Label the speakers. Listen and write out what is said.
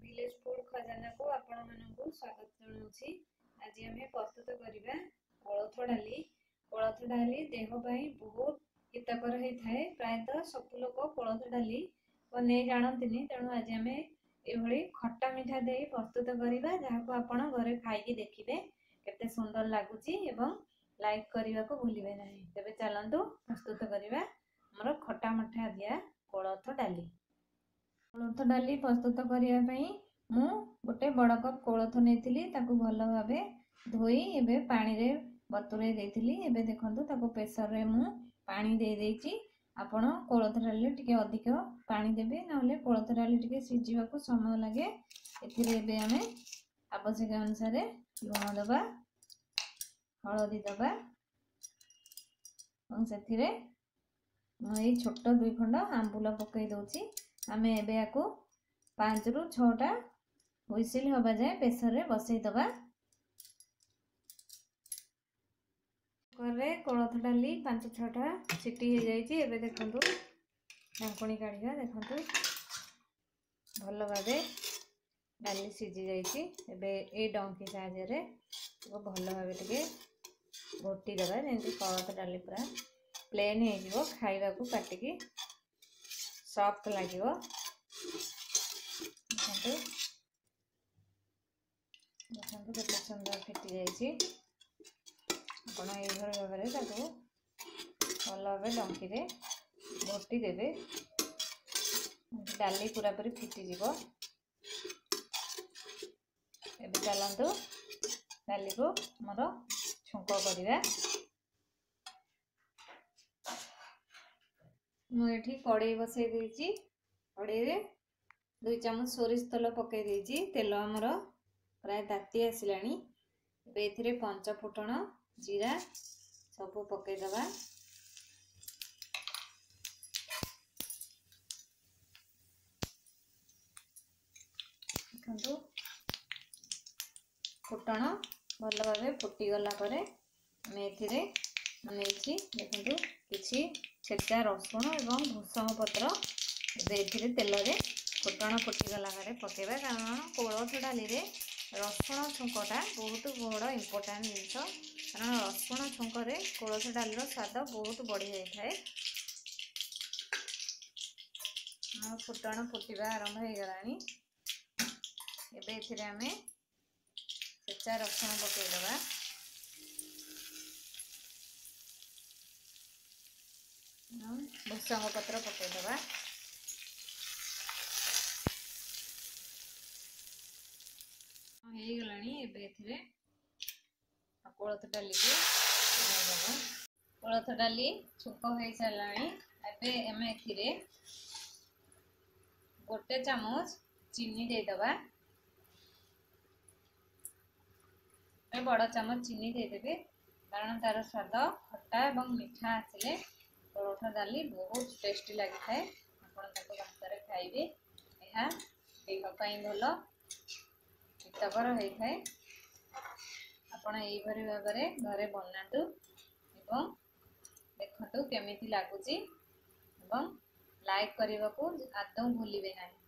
Speaker 1: Village food ଖଜାନାକୁ ଆପଣମାନଙ୍କୁ ସ୍ୱାଗତ ଜଣାଉଛି। ଆଜି ଆମେ ପ୍ରସ୍ତୁତ କରିବା କୋଳଥ ଡାଲି। କୋଳଥ ଡାଲି ଦେହ ପାଇଁ ବହୁତ ହିତକର ହେଇଥାଏ। ପ୍ରାୟତଃ ସବୁ ଲୋକ କୋଳଥ ଡାଲି ବନେଇ ଜାଣନ୍ତିନି, ତେଣୁ ଆଜି ଆମେ ଏଭଳି ଖଟା ମିଠା ଦେଇ ପ୍ରସ୍ତୁତ କରିବା, ଯାହାକୁ ଆପଣ ଘରେ ଖାଇକି ଦେଖିବେ କେତେ ସୁନ୍ଦର ଲାଗୁଛି ଏବଂ ଲାଇକ୍ କରିବାକୁ ଭୁଲିବେ ନାହିଁ। ତେବେ ଚାଲନ୍ତୁ ପ୍ରସ୍ତୁତ କରିବା ଆମର ଖଟା ମିଠା ଦିଆ କୋଳଥ ଡାଲି। କୋଳଥ ଡାଲି ପ୍ରସ୍ତୁତ କରିବା ପାଇଁ ମୁଁ ଗୋଟେ ବଡ଼ କପ୍ କୋଳଥ ନେଇଥିଲି, ତାକୁ ଭଲ ଭାବେ ଧୋଇ ଏବେ ପାଣିରେ ବତୁରେଇ ଦେଇଥିଲି। ଏବେ ଦେଖନ୍ତୁ, ତାକୁ ପ୍ରେସରରେ ମୁଁ ପାଣି ଦେଇ ଦେଇଛି। ଆପଣ କୋଳଥ ଡାଲିରେ ଟିକେ ଅଧିକ ପାଣି ଦେବେ, ନହେଲେ କୋଳଥ ଡାଲି ଟିକେ ସିଝିବାକୁ ସମୟ ଲାଗେ। ଏଥିରେ ଏବେ ଆମେ ଆବଶ୍ୟକ ଅନୁସାରେ ଲୁଣ ଦେବା, ହଳଦୀ ଦେବା ଏବଂ ସେଥିରେ ମୁଁ ଏଇ ଛୋଟ 2 ଖଣ୍ଡ ଆମ୍ବୁଲ ପକାଇ ଦେଉଛି। ଆମେ ଏବେ ୟାକୁ 5ରୁ 6ଟା ହୁଇସିଲ୍ ହେବା ଯାଏଁ ପ୍ରେସରରେ ବସେଇ ଦେବା। କୁକରରେ କୋଳଥ ଡାଲି 5 6ଟା ସିଟି ହେଇଯାଇଛି। ଏବେ ଦେଖନ୍ତୁ, ଢାଙ୍କୁଣୀ କାଢ଼ିବା। ଦେଖନ୍ତୁ, ଭଲ ଭାବେ ଡାଲି ସିଝି ଯାଇଛି। ଏବେ ଏଇ ଡଙ୍କି ସାହାଯ୍ୟରେ ଭଲ ଭାବେ ଟିକେ ଘୋଟି ଦେବା, ଯେମିତି କୋଳଥ ଡାଲି ପୁରା ପ୍ଲେନ୍ ହେଇଯିବ, ଖାଇବାକୁ ପାଟିକି ସଫ୍ଟ ଲାଗିବ। ଦେଖନ୍ତୁ, ଦେଖନ୍ତୁ କେତେ ସୁନ୍ଦର ଫିଟି ଯାଇଛି। ଆପଣ ଏଇଭଳି ଭାବରେ ତାକୁ ଭଲ ଭାବେ ଡଙ୍କିରେ ଘୋଟି ଦେବେ, ଡାଲି ପୁରାପୁରି ଫିଟିଯିବ। ଏବେ ଚାଲନ୍ତୁ ଡାଲିକୁ ଆମର ଛୁଙ୍କ କରିବା। ମୁଁ ଏଠି କଡ଼େଇ ବସେଇ ଦେଇଛି। କଡ଼େଇରେ 2 ଚାମଚ ସୋରିଷ ତେଲ ପକାଇ ଦେଇଛି। ତେଲ ଆମର ପ୍ରାୟ ତାତି ଆସିଲାଣି। ଏବେ ଏଥିରେ ପଞ୍ଚ ଫୁଟଣ, ଜିରା ସବୁ ପକାଇଦେବା। ଦେଖନ୍ତୁ, ଫୁଟଣ ଭଲ ଭାବେ ଫୁଟିଗଲା ପରେ ଆମେ ଏଥିରେ ନେଇଛି, ଦେଖନ୍ତୁ, କିଛି ଛେଚା ରସୁଣ ଏବଂ ଭୃଷଙ୍ଗ ପତ୍ର। ଏବେ ଏଥିରେ ତେଲରେ ଫୁଟଣ ଫୁଟିଗଲା ପରେ ପକାଇବା, କାରଣ କୋଳଥ ଡାଲିରେ ରସୁଣ ଛୁଙ୍କଟା ବହୁତ ବଡ଼ ଇମ୍ପୋର୍ଟାଣ୍ଟ ଜିନିଷ, କାରଣ ରସୁଣ ଛୁଙ୍କରେ କୋଳଥ ଡାଲିର ସ୍ୱାଦ ବହୁତ ବଢ଼ିଯାଇଥାଏ। ଆମ ଫୁଟଣ ଫୁଟିବା ଆରମ୍ଭ ହେଇଗଲାଣି। ଏବେ ଏଥିରେ ଆମେ ଛେଚା ରସୁଣ ପକାଇଦେବା, ଭୃଷଙ୍ଗ ପତ୍ର ପକାଇଦେବା। ହେଇଗଲାଣି। ଏବେ ଏଥିରେ କୋଳଥ ଡାଲିକୁ ଦେବା। କୋଳଥ ଡାଲି ଛୁଙ୍କ ହେଇସାରିଲାଣି। ଏବେ ଆମେ ଏଥିରେ 1 ଚାମଚ ଚିନି ଦେଇଦେବା। ବଡ଼ ଚାମଚ ଚିନି ଦେଇଦେବେ, କାରଣ ତାର ସ୍ୱାଦ ଖଟା ଏବଂ ମିଠା ଆସିଲେ କୋଳଥ ଡାଲି ବହୁତ ଟେଷ୍ଟି ଲାଗିଥାଏ। ଆପଣ ତାକୁ ଭାତରେ ଖାଇବେ। ଏହା ଦେହ ପାଇଁ ଭଲ, ହିତକର ହେଇଥାଏ। ଆପଣ ଏଇଭଳି ଭାବରେ ଘରେ ବନାନ୍ତୁ ଏବଂ ଦେଖନ୍ତୁ କେମିତି ଲାଗୁଛି ଏବଂ ଲାଇକ୍ କରିବାକୁ ଆଦୌ ଭୁଲିବେ ନାହିଁ।